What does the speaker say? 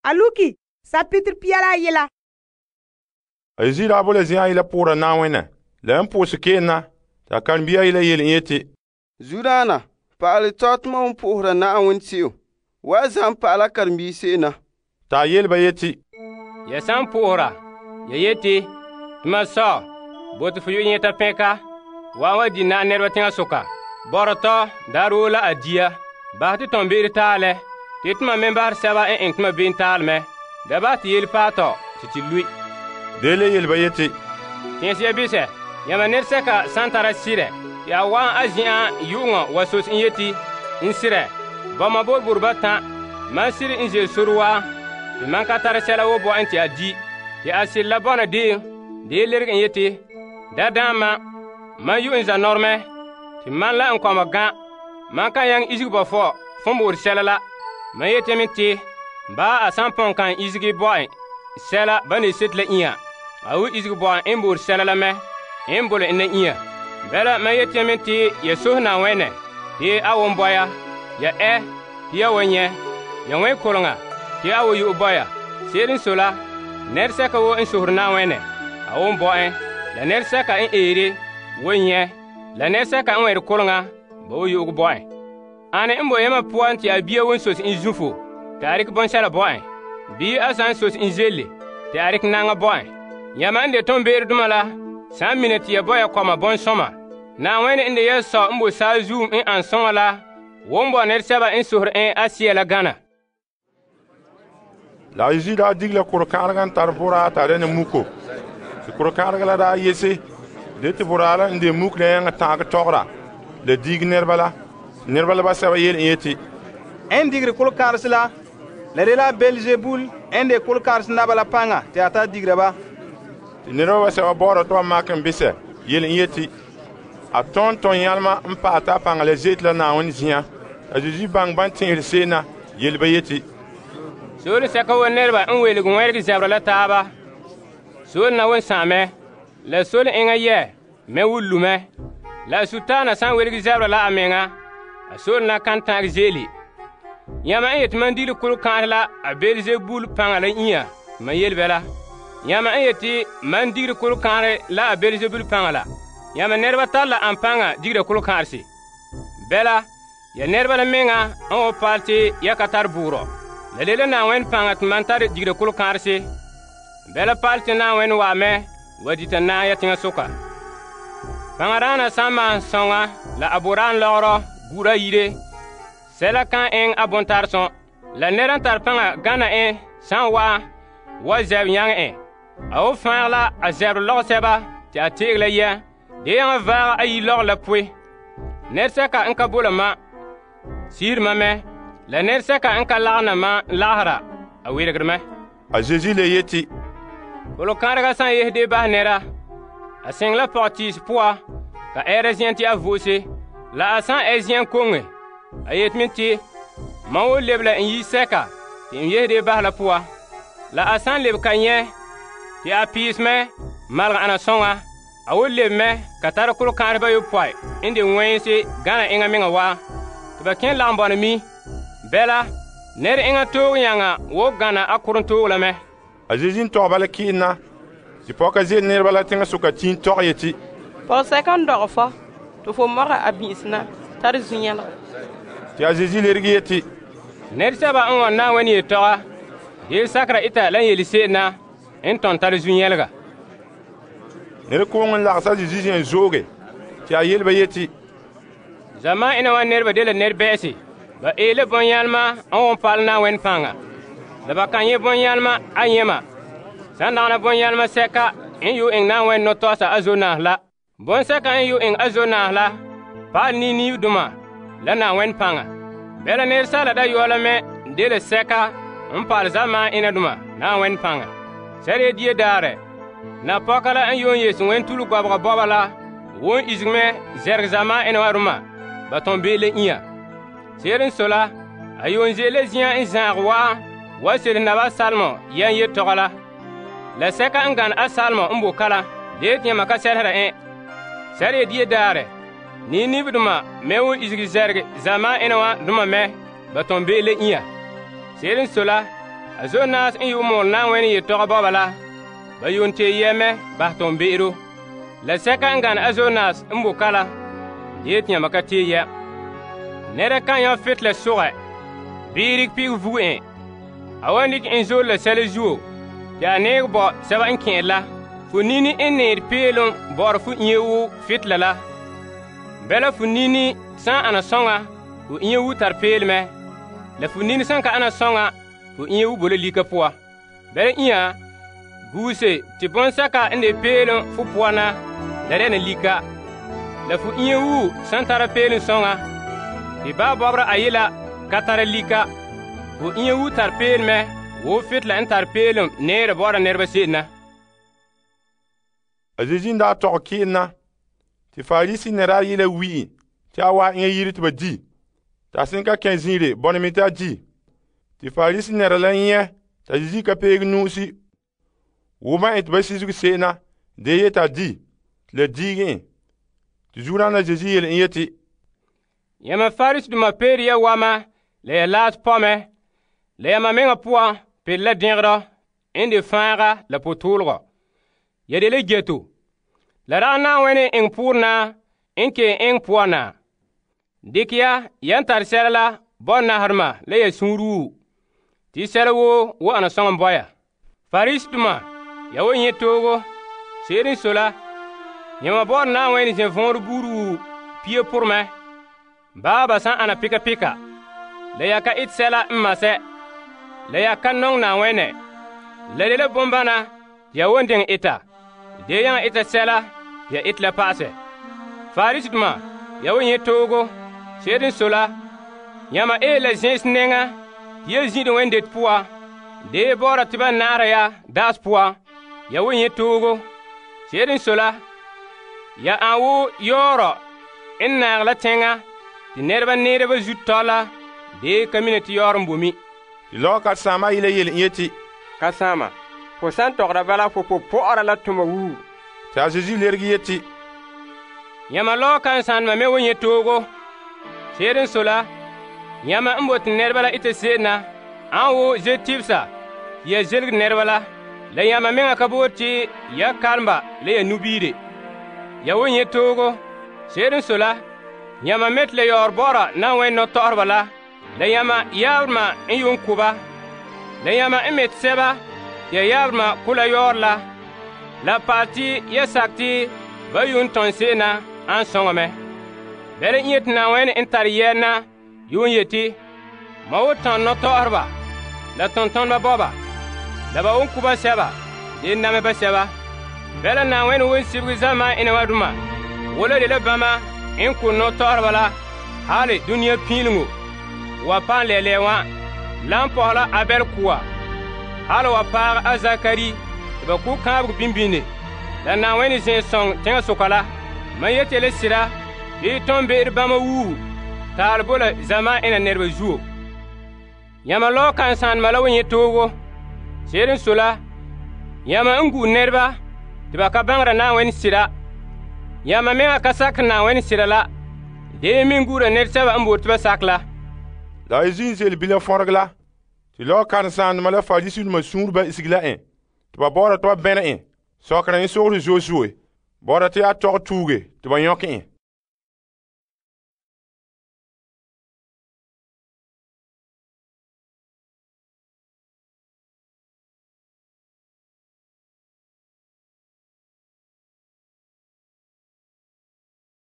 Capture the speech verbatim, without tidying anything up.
A luki sapitr pia la yela. A Yesu daa boe la zen'an yela poora Na'ayenɛ. La yan po'ohɛ sekeen na, ta karen-bia yela yele en yeti, Zudaana, pa'alɛ tɔ te mam po'ohera Na'ayenɛ se'em. Wa zam pa'ala karen-bii se'em na. Ta yele ba yeti, Ya san po'ohera, ya yeti, tuma sɔ, bote fo yu'ɛ nyɛta pɛnka, wa wa di na nɛreba teŋa soka. Bɔrɔ tɔ, daarɛ woo la a dia. Bahɛ te tɔn be'ere taalɛ, te tuma me bahɛ sɛba n eŋɛ tuma be'em taalɛ mɛ. Da bahɛ te yele paɛ tɔ, te te lui. Dele yele ba yeti, Tẽese ya bisɛ, yãmba nɛresɛka san tara sirɛ, te a wa'an a zen'an yu'uŋɔ wa sos n yeti, n sirɛ, bɔma boroboro batan, mam sire n ze'ele sore wa, te mam ka tara sɛla woo bo en te a di. Te a sire la bɔna deem, dee lerege en yeti, da daam ma, mam yu'e n zanɔremɛ, te man la n kɔma gan, man kan nyaŋɛ isege bɔ fɔ fon boore sɛla la. Man yeti me te, baa a san pɔn kan isege bo en sɛla ba ne sete la inya, a wu isege bo en n boore sɛla la mɛ, n bole en na inya. Bɛla man yeti me te ya sohe Na'ayenɛ, te a won bɔya, ya ɛ, te ya wa nyɛ, ya wɛn koleŋa, te a wa yu'e bɔya. Se'ere n so la, nɛresɛka woo n sohore Na'ayenɛ, a won bɔ en, la nɛresɛka n eere wa nyɛ, la nɛresɛka n wɛnre koleŋa, ba wa yu'uge bo en. Ane n bo yamma poan te a bia won sos en zufo, te a rekɛ bɔnsɛla bo en? Bii a san sos en zelle, te a rekɛ naŋa bo en? Yamma n de tombeeredoma la, san mina te ya bɔya kɔma bɔnsɔma, Na'ayenɛ n de ya sɔ n bo saazuum n an soŋa la, won bo nɛresɛba n sohore en a sea la gana. la a Yesu daa dige la korekãanega n tare boraa t'a dɛna muko. Te korekãanega la daa yese, de te boraa la n de muk la yãngɛ ta'agɛ tɔgera, la diig nɛreba la. Nɛreba la basɛba yele en yeti, En digre kolkãarse la, la de la Belzebul en de kolkãarse naba la paŋa te a ta digra ba. te nɛreba basɛba bɔɔra tɩ ba makɛ n bisɛ yele en yeti, a tõn tõn yãlema n paɛ t'a paŋa la zeete la Na'ayenɛ zin'an. A Yesu baŋɛ ban tẽesre se'em na yele ba yeti, Soore sɛka wo nɛreba n welege wɛrege zɛbera la taaba. Soore na won sãamɛ, la sole eŋa yɛ me wullu mɛ. La a sutaana san welege zɛbera la a meŋa, a soore na kan tãag zeele. Yãmba n yeti man digre kolkãanse la a Belzebul paŋa la inya, man yele bɛ la. Yãmba n yeti man digre kolkãanse la a Belzebul paŋa la, yãmba nɛreba tar la an paŋa digra kolkãanse. Bɛla, ya nɛreba la meŋa n wa paal te ya ka tar buurɔ. La de la Na'ayenɛ paŋa te man tar digra kolkãanse. Bɛla paal te Na'ayenɛ wa mɛ wa dita naam ya teŋa soka. Paŋadaana san maan sɔŋa la a boraan lɔgerɔ gura yire, sɛla kan eŋɛ a bontaresõ, la nɛra n tare paŋa gana en san wa'an wa zɛb nyaŋɛ en. A wo fãag la a zɛbere lɔgesɛba te a teege la yɛ, de yaŋa vaaga ayi lɔgɔ la poe. Nɛresɛka n ka bo la ma, siiri ma mɛ, la nɛresɛka n ka lagena ma lagera, a weregere mɛ. a Yesu le yeti, Kolokãadega san yesde basɛ nɛra, a sɛŋ la pɔgɔtiis poa, ka ɛɛra zĩan te a vo'ose, la a san ɛ zĩan koŋe, a yeti me te, mam wo lebe la n yi-sɛka te n yesde basɛ la poa. La a san lebe ka nyɛ, te a piis mɛ malga ana sõŋa, a wo lebe mɛ ka tara kolokãadeba yopɔi n de wẽnse gana eŋa meŋa wa, tɩ ba kẽ lagem bɔna mi. Bɛla, nɛr eŋa toog yãŋa wo gana a koren toog la mɛ. a Yesu n tɔgba la kɩɩna, tɩ pɔka ze'ele nɛreba la teŋa soka tiin tɔg yeti, Pɔgɔsɛka n dɔgɛ fɔ, tɩ fo mɔga a bĩ'is na, tar zu-yẽlgɔ. tɩ a Yesu lerege yeti, Nɛresɛba n wa Na'ayenɛ yetɔga, deel sakera ita la n yele se'em na n tõn tar zu-yɛlga. nɛrekooŋ n lags a Yesu zen zooge, tɩ a yele ba yeti, Zamaan ina wa nɛreba de la nɛr-bɛ'ɛse, ba eele bõn-yãlema n won paal Na'ayenɛ paŋa, la ba kan nyɛ bõn-yãlema a yẽma. Sãn dagana bõn-yãlema sɛka n yu eŋ Na'ayenɛ nɔtɔgsa a zonaas la. Bõn-sɛka n yu eŋ a zonaas la, paal ni-niibdoma la Na'ayenɛ paŋa. Bɛla nɛresaala dayɔɔ la mɛ de la sɛka n paal zamaan ina-doma Na'ayenɛ paŋa. Sɛreya die daarɛ, napɔka la n yuun yese wɛn-tulu gɔbega bɔba la won isege mɛ zɛrege zamaan ina wa roma, ba tõn bee la inya. Se'ere n so la, a yuun ze'ele zĩan n zãag waa wa sere naba Salmo yɛn yetɔgɔ la. La sɛka n gane a Salmo n bo kala, deet yãmba ka sɛlsera en. Sɛreya die daarɛ, ni-nibdoma me won isege zɛrege zamaan ina wa doma mɛ, ba tõn bee la inya. Se'ere n so la, A Zonas n yu'ɛ mɔɔlɛ Na'ayenɛ yetɔgɔ bɔba la, ba yuun tee yɛ mɛ bahɛ toonbe'ero. La sɛka n gane a Zonas n bo ka la, de yeti yãmba ka tee yɛ. Nɛra kan yãm fet la sogɛ, bii rikɛ pigɛ vugu en. A wan dikɛ en zoore la sɛla zuo, te a neegɛ bo sɛba n kɛn'ɛre la. Fo nini n neere peelom bɔ'ɔra fo inya wo fetla la. Bɛla fo nini san ana sɔŋa, fo inya wo tare peel mɛ. La fo nini san ka ana sɔŋa, fo inya wo bo la lika poa. Bɛla inya, guuse te bɔnsɛka n de peelom fo poa na la dɛna lika. La fo inya wo san tara peelom sɔŋa, te ba bɔbɔra ayela ka tara lika. Fo inya wo tare peel mɛ wo fetla n tare peelom neere bɔ'ɔra nɛreba se'em na. A Zeezi n daa tɔgɛ keel na, te Farisi nɛra yela wi'i te a waa eŋa yiri te ba di, te a sẽn ka kẽ zin'ire bɔna me te a di. Te Farisi nɛra la nyɛ t'a Zeezi ka peege nu'usi wo ban ete ba sisege se'em na, de yeti a di, te la diige en. Te zuodaana Zeezi yele en yeti, Yãmba Farisidoma peere ya wama la ya laas pɔmɛ, la yãmba meŋa poan pere la dẽgdɔ n de fãaga la potɔɔlegɔ. Ya de la geto. La ragɛ Na'ayenɛ eŋɛ poorẽ na n ke eŋɛ poan na. Dikɛ ya yan tare sɛla la bɔ naherema la ya sũuru woo, tɩ sɛla woo wo ana sɔŋ n bɔ ya. Farisidoma, ya wo nyɛ toogo. Se'ere n sɔe la, yãmba bɔ'ɔra Na'ayenɛ zɛ-võorɔ buuri woo pia poremɛ, baa ba san ana pika pika. La ya ka ete sɛla n masɛ, la ya ka nɔŋɛ Na'ayenɛ. La de la bombana ya won diŋɛ eta. De yaŋa eta sɛla ya ete la pa'asɛ. Farisidoma, ya wo nyɛ toogo. Se'ere n sɔe la, yãmba ee la zẽ'is nɛŋa tɩ ya zĩ'de wẽndet poa, de bɔ'ɔra tɩ ba na'ara ya daas poa. Ya wo nyɛ toogo. Se'ere n sɔe la, ya an wo yɔɔrɔ n naag la tẽŋa tɩ nɛreba neera ba zu tɔ la, de ka mina tɩ yɔɔr n bo mi. Tɩ lɔgɔ karen-saambã yela yele en yeti, Kãsama, fo san tɔgra bala fo po pɔ'ɔra la tʋma wuu. tɩ a Zeezi lerege yeti, Yãmba lɔɔ kãn-sãandema me wo nyɛ toogo. Se'ere n sɔe la, yãmba n bote nɛreba la ita se'em na an wo ze tibsa tɩ ya zelege nɛreba la, la yãmba meŋa ka boore tɩ ya karemba la ya nubiire. Ya wo nyɛ toogo. Se'ere n sɔe la, yãmba me tɩ la yaoor bɔ'ɔra Na'ayenɛ nɔtɔ'ɔreba la, la yãmba yaabdema n yuun ko ba. La yãmba n met sɛba tɩ ya yaabdema ko la yaoor la, la paal tɩ ya sak tɩ ba yuun tõn se'em na an sõŋame. Bɛla n yeti Na'ayenɛ n tare yɛɛna yuun yeti, ma wo tõn nɔtɔ'ɔreba la tõntõneba bɔba, la ba won ku ba sɛba, de name ba sɛba. Bɛla Na'ayenɛ won sibege zamaan ina wa duma, wola de la bãmba n ko nɔtɔ'ɔreba la, hali dũniyã piiliŋo wa pãn lɛɛlɛɛ wã, la n pɔsɛ la Abɛl kʋa, hali wa paag a Zakari tɩ ba ku kãabeg bimbine. La Na'ayenɛ zẽ sõng tẽngã soka la, mam yete la sɩda bɩ tõnd be'er bãmba wuu taal bo la zamaan ina nɛreba zuo. Yãmba lɔɔ kãn-sãandema la wo nyɛ toogo. Se'ere n sɔe la, yãmba n gu nɛreba tɩ ba ka bãngra Na'ayenɛ sɩda. Yãmba meŋa ka sakɛ Na'ayenɛ sɩda la, dee meŋ gura nɛresɛba n boore tɩ ba sak la. la a Zeezi n zeele bilam fõreg la, tɩ lɔgɔ karen-sãandema la Farisidoma sũurba isegi la en, tɩ ba baoora tɩ ba bẽne en, sɔkera en sogre zoe-zoe, baoora tɩ yaa tɔg tuuge tɩ ba yõk en.